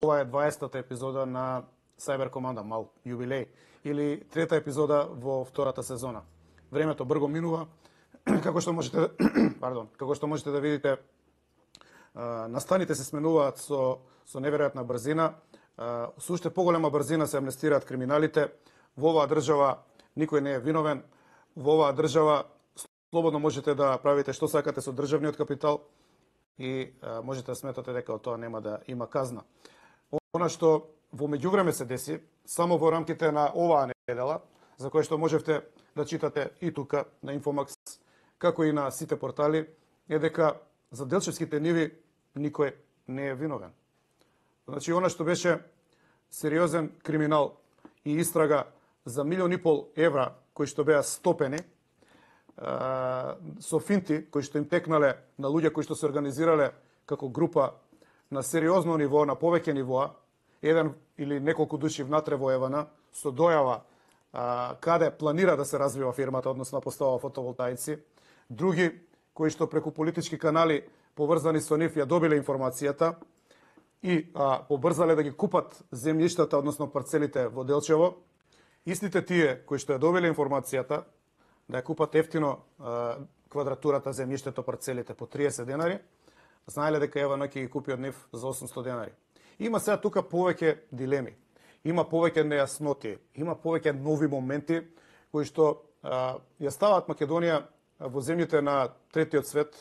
ова е 20-та епизода на Cyber Команда, мал јубилеј, или трета епизода во втората сезона. Времето брзо минува, како што можете да видите, настаните се сменуваат со неверојатна брзина, со уште поголема брзина се амнестираат криминалите. Во оваа држава никој не е виновен, во оваа држава слободно можете да правите што сакате со државниот капитал и можете да сметате дека од тоа нема да има казна. Она што во меѓувреме се деси, само во рамките на оваа недела, за кој што можевте да читате и тука на Инфомакс, како и на сите портали, е дека за Делчевските ниви никој не е виновен. Значи, она што беше сериозен криминал и истрага за 1,5 милион евра кои што беа стопени, со финти кои што им текнале на луѓе кои што се организирале како група на сериозно ниво, на повеќе нивоа, еден или неколку души внатре во Евана, со дојава каде планира да се развива фирмата, односно поставува фотоволтаици, други кои што преку политички канали поврзани со нив ја добиле информацијата и побрзале да ги купат земјиштата, односно парцелите во Делчево, истите тие кои што ја добиле информацијата да ја купат ефтино квадратурата, земјиштето, парцелите по 30 денари, знаеле дека Евана ќе ги купи од нив за 800 денари. Има сега тука повеќе дилеми, има повеќе нејасноти, има повеќе нови моменти кои што ја ставаат Македонија во земјите на третиот свет.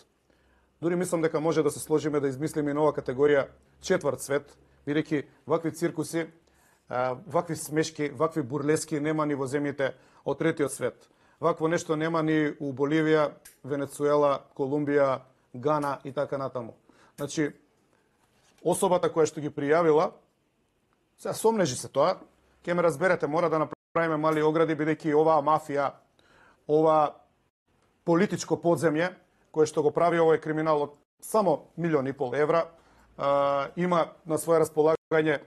Дури мислам дека може да се сложиме да измислиме нова категорија четврт свет, бидејќи вакви циркуси, вакви смешки, вакви бурлески нема ни во земјите од третиот свет. Вакво нешто нема ни у Боливија, Венецуела, Колумбија, Гана и така натаму. Значи, особата која што ги пријавила, сега сомнежи се тоа, ќе ме разберете, мора да направиме мали огради, бидејќи оваа мафија, ова политичко подземје, кое што го прави овој криминал од само 1,5 милион евра, има на свое располагање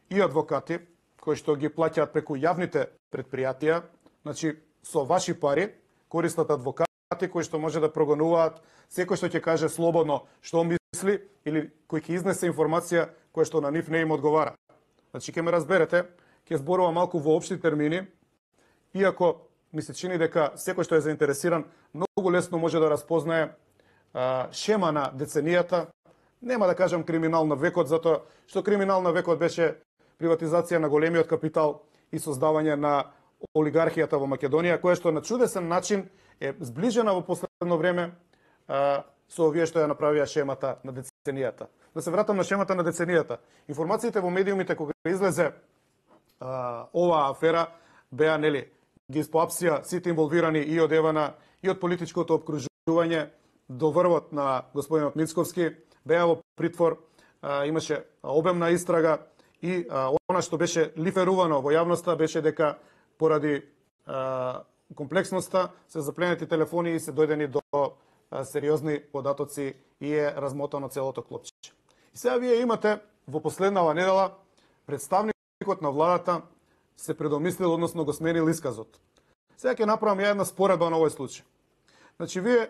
и адвокати, кои што ги плаќаат преку јавните предпријатија, значи со ваши пари, користат адвокати кои што може да прогонуваат секој што ќе каже слободно што мисли или кој ќе изнесе информација која што на нив не им одговара. Значи ќе ме разберете, ќе зборува малку во општи термини, иако ми се чини дека секој што е заинтересиран многу лесно може да распознае шема на деценијата, нема да кажам криминал на векот, затоа што криминал на векот беше приватизација на големиот капитал и создавање на олигархијата во Македонија, која што на чудесен начин е сближена во последно време со овие што ја направија шемата на деценијата. Да се вратам на шемата на деценијата. Информациите во медиумите кога излезе оваа афера беа, нели, ги испоапсија сите инволвирани и од Евана и од политичкото опкружување до врвот на господинот Мицковски, беа во притвор, имаше обемна истрага и она што беше лиферувано во јавноста беше дека поради комплексноста се запленети телефони и се дојдени до сериозни податоци и е размотано целото клопче. И сега вие имате во последнава недела представникот на владата се предомислил, односно го сменил исказот. Сега ќе направам ја една споредба на овој случај. Значи, вие